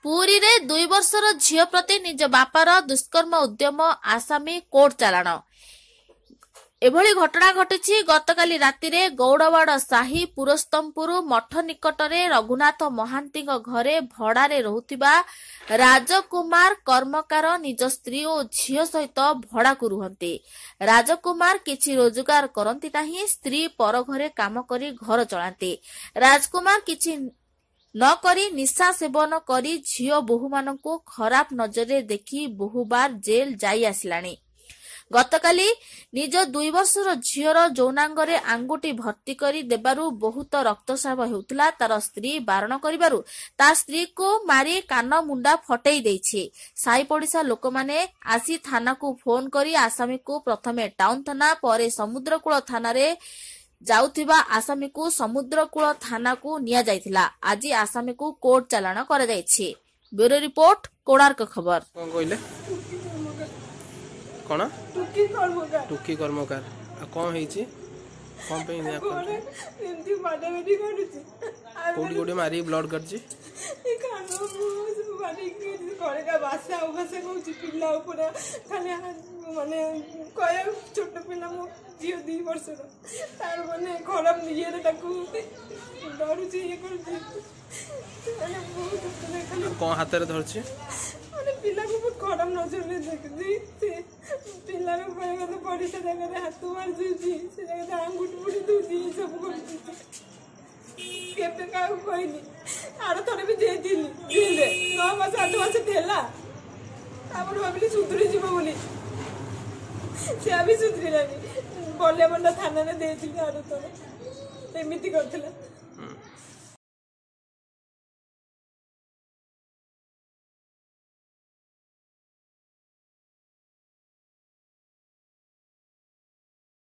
ପୁରୀରେ 2 ବର୍ଷର ଝିଅ ପ୍ରତି ନିଜ ବାପାର ଦୁଷ୍କର୍ମ ଉଦ୍ୟମ, ଆସାମୀ କୋର୍ଟ ଚାଲାଣ। ଏଭଳି ଘଟଣା ଘଟିଛି ଗତକାଲି ରାତିରେ ଗୌଡ଼ବାଡ଼ ସାହି ପୁରସ୍ତମପୁର ମଠ ନିକଟରେ ରଘୁନାଥ ମହାନ୍ତିଙ୍କ ଘରେ ଭଡ଼ାରେ ରହୁଥିବା ରାଜକୁମାର କର୍ମକାର ନିଜ ସ୍ତ୍ରୀ ଓ ଝିଅ ସହିତ ଭଡ଼ାକୁ ରୁହନ୍ତି। ରାଜକୁମାର କିଛି ରୋଜଗାର କରନ୍ତି ନାହିଁ, ସ୍ତ୍ରୀ ପର ଘରେ କାମ କରି ଘର ଚଳାନ୍ତି। ରାଜକୁମାର କିଛି ନ କରି ନିଶା ସେବନ କରି ଝିଅ ବୋହୂମାନଙ୍କୁ ଖରାପ ନଜରରେ ଦେଖି ବହୁବାର ଜେଲ ଯାଇ ଆସିଲାଣି। ଗତକାଲି ନିଜ 2 ବର୍ଷର ଝିଅର ଯୌନାଙ୍ଗରେ ଆଙ୍ଗୁଠି ଭର୍ତ୍ତି କରି ଦେବାରୁ ବହୁତ ରକ୍ତସ୍ରାବ ହେଉଥିଲା। ତାର ସ୍ତ୍ରୀ ବାରଣ କରିବାରୁ ତା ସ୍ତ୍ରୀକୁ ମାରି କାନ ମୁଣ୍ଡା ଫଟେଇ ଦେଇଛି। ସାହି ପଡ଼ିଶା ଲୋକମାନେ ଆସି ଥାନାକୁ ଫୋନ କରି ଆସାମୀକୁ ପ୍ରଥମେ ଟାଉନ ଥାନା, ପରେ ସମୁଦ୍ରକୂଳ ଥାନାରେ ଯାଉଥିବା ଆସାମୀକୁ ସମୁଦ୍ରକୂଳ ଥାନାକୁ ନିଆଯାଇଥିଲା। ଆଜି ଆସାମୀକୁ କୋର୍ଟ ଚାଲାଣ କରାଯାଇଛି। ବ୍ୟୁରୋ ରିପୋର୍ଟ, କୋଣାର୍କ ଖବର। କଣ କହିଲେ? କଣ? ଟୁକି କର୍ମକାର। ଟୁକି କର୍ମକାର। ଆଉ କଣ ହେଇଛି? କଣ ପାଇଁ? ଘରେ ଏମିତି ମାଡ଼ାମାଡ଼ି କରୁଛି। କୋଉଠି କୋଉଠି ମାରି ବ୍ଲଡ କରିଛି? ଏ କାନ ମୁହଁ ସବୁ ମାରିକି, ଘରେ କା ଭାଷା ଅଭାଷା କହୁଛି। ପିଲା ଉପରେ ଖାଲି ମାନେ କହିବାକୁ, ଛୋଟ ପିଲା, ମୋ ଝିଅ 2 ବର୍ଷର, ତାର ମାନେ ଖରାପ ଇଏରେ ତାକୁ ଡରୁଛି, ଇଏ କରୁଛି, ମାନେ ବହୁତ ଖାଲି। କଣ ହାତରେ ଧରିଛି? ମାନେ ପିଲାକୁ ବହୁତ ଖରାପ ନଜରରେ ଦେଖୁଛି ସେ। ପିଲାର କହିବା କଥା ପରିସ୍ରା ଜାଗାରେ ହାତ ମାରି ଦଉଛି, ସେ ଜାଗାରେ ଆଙ୍ଗୁଠି ପୁଡ଼ି ଦଉଛି, ଏସବୁ କରୁଛି। କେବେ କାହାକୁ କହିନି। ଆର ଥରେ ବି ଯାଇଥିଲି ଜେଲରେ, 9 ମାସ 8 ମାସ ଥିଲା। ତାପରେ ଭାବିଲି ସୁଧୁରି ଯିବ ବୋଲି, ସେ ବି ସୁଧୁରିଲାନି। ବଲିଆମଣ୍ଡା ଥାନାରେ ଦେଇଥିଲି ଆର ଥର, ଏମିତି କରିଥିଲା।